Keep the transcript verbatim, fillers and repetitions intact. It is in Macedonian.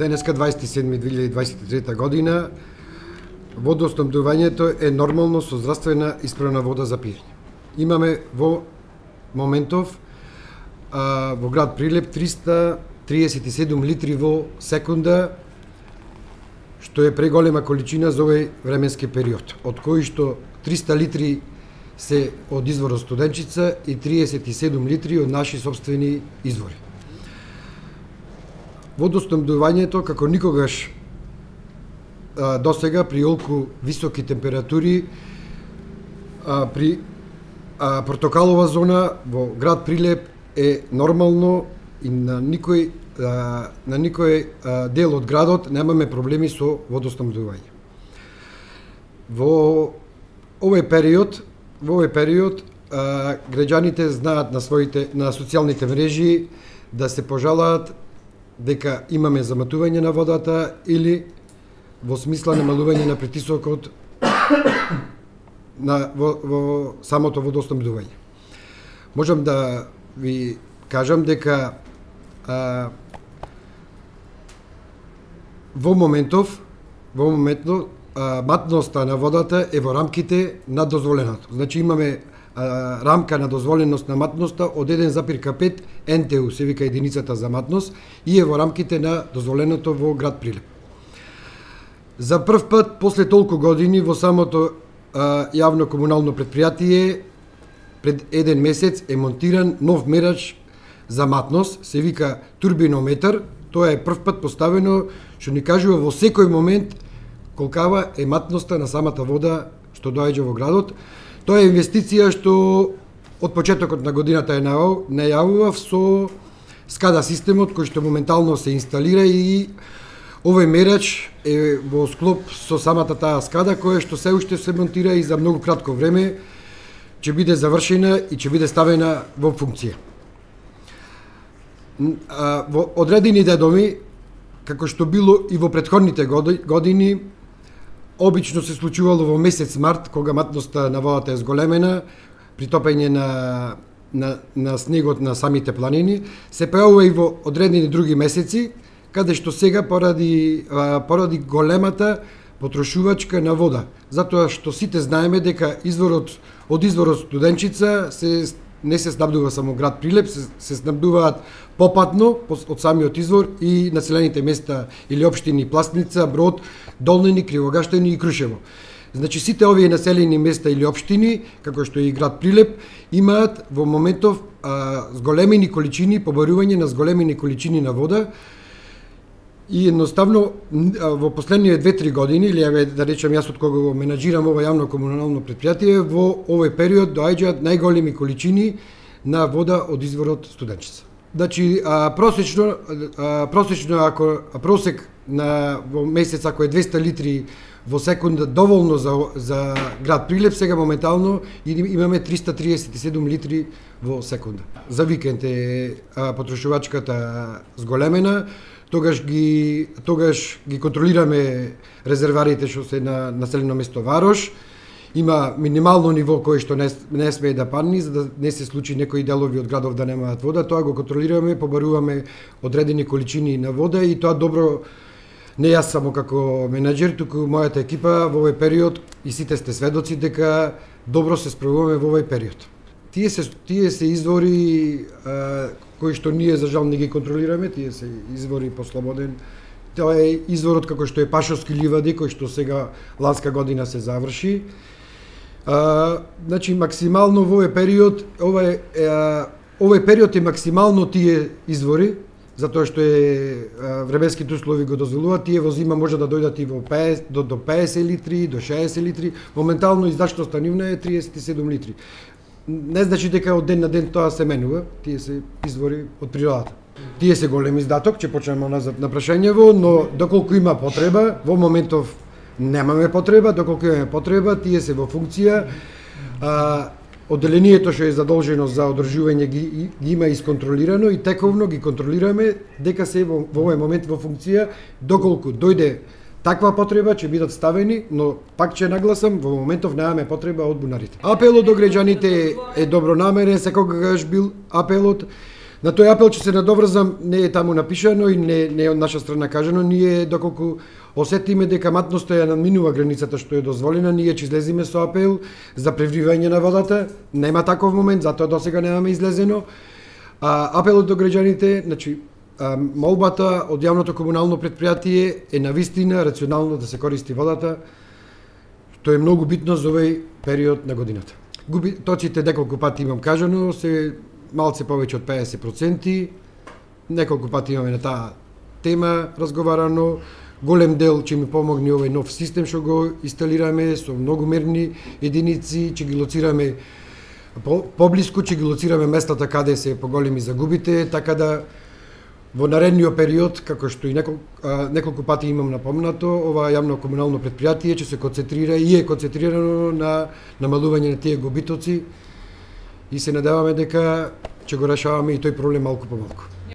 денеска дваесет и седми две илјади дваесет и трета година, водоснабдувањето е нормално со здравствена исправна вода за пиење. Имаме во моментов а, во град Прилеп триста триесет и седум литри во секунда, што е преголема количина за овој временски период, од кои што триста литри се од изворот Студенчица и триесет и седум литри од наши сопствени извори. Водоснабдувањето како никогаш а, досега при олку високи температури а, при а, портокалова зона во град Прилеп е нормално и на никој а, на никој а, дел од градот немаме проблеми со водоснабдување. Во овој период, во овој период а, граѓаните знаат на своите на социјалните мрежи да се пожалаат дека имаме заматување на водата или во смисла намалување на притисокот на во, во самото водоснабдување. Можам да ви кажам дека а, во моментов во моментно а, матноста на водата е во рамките на дозволеното. Значи имаме а, рамка на дозволеност на матноста од еден запирка пет Н Т У, се вика единицата за матност, и е во рамките на дозволеното во град Прилеп. За прв пат после толку години во самото а, јавно комунално предпријатие пред еден месец е монтиран нов мерач за матност, се вика турбинометар. Тоа е прв пат поставено, што ни кажува во секој момент колкава е матноста на самата вода што доаѓа во градот. Тоа е инвестиција што од почетокот на годината е најавува со скада системот кој што моментално се инсталира, и овој мерач е во склоп со самата таа скада која што се уште се монтира и за многу кратко време ќе биде завршена и ќе биде ставена во функција. Во одредени дедоми, како што било и во претходните години, обично се случувало во месец март, кога матноста на водата е зголемена, при топење на, на, на снегот на самите планини, се појавува и во одредени други месеци, каде што сега поради, поради големата потрошувачка на вода. Затоа што сите знаеме дека изворот од изворот Студенчица се не се снабдува само град Прилеп, се, се снабдуваат попатно од самиот извор и населените места или општини Пластница, Брод, Долнени, Кривогаштени и Крушево. Значи сите овие населени места или општини, како што е и град Прилеп, имаат во моментов а, зголемени количини, побарување на зголемени количини на вода. И едноставно во последниве две-три години, или еве да речем јас од кога го менаџирам ова јавно комунално предпријатие, во овој период доаѓаат најголеми количини на вода од изворот Студенчица. Значи а, просечно а, просечно ако а просек на во месец ако е двеста литри во секунда доволно за за град Прилеп, сега моментално имаме триста триесет и седум литри во секунда. За викенд е а, потрошувачката зголемена. Тогаш ги тогаш ги контролираме резерварите што се на населено место Варош. Има минимално ниво кое што не, не смее да падне, за да не се случи некои делови од градов да немаат вода. Тоа го контролираме, побаруваме одредени количини на вода, и тоа добро не јас само како менаџер, туку мојата екипа во овој период, и сите сте сведоци дека добро се справуваме во овој период. Тие се тие се извори а, кои што ние за жал не ги контролираме, тие се извори по слободен. Тоа е изворот како што е Пашовски ливади, кој што сега ланска година се заврши. А, значи максимално во овој период, овој овој период е максимално тие извори, затоа што е а, временските услови го дозволуваат. Тие во зима може да дојдат и во петдесет до до петдесет литри, до шеесет литри. Моментално издачноста нивна е триесет и седум литри. Не значи дека од ден на ден тоа се менува, тие се извори од природата. Тие се голем издаток, ќе почнеме назад на прашањево, но доколку има потреба, во моментов немаме потреба, доколку имаме потреба, тие се во функција. А, одделението што е задолжено за одржување ги, ги има исконтролирано, и тековно ги контролираме дека се во, во овој момент во функција. Доколку дојде таква потреба ќе бидат ставени, но пак ќе нагласам, во моментов немаме потреба од бунарите. Апелот до граѓаните е добронамерен, секогаш бил апелот. На тој апел ќе се надоврзам, не е таму напишано и не, не е од наша страна кажано, ние доколку осетиме дека матноста ја надминува границата што е дозволена, ние ќе излеземе со апел за превривање на водата. Нема таков момент, затоа досега немаме излезено. А, апелот до граѓаните, значи, а, молбата од јавното комунално предпријатие е навистина рационално да се користи водата, што е многу битно за овој период на годината. Губитоците неколку пати имам кажано, се малце повеќе од педесет проценти, неколку пати имаме на таа тема разговарано, голем дел ќе ми помогне овој нов систем што го инсталираме со многу мерни единици, ќе ги лоцираме по, поблиску, ќе ги лоцираме местата каде се поголеми загубите, така да во наредниот период, како што и неколку, а, неколку пати имам напомнато, ова јавно комунално предпријатие ќе се концентрира и е концентрирано на намалување на тие губитоци и се надеваме дека ќе го решаваме и тој проблем малку по малку.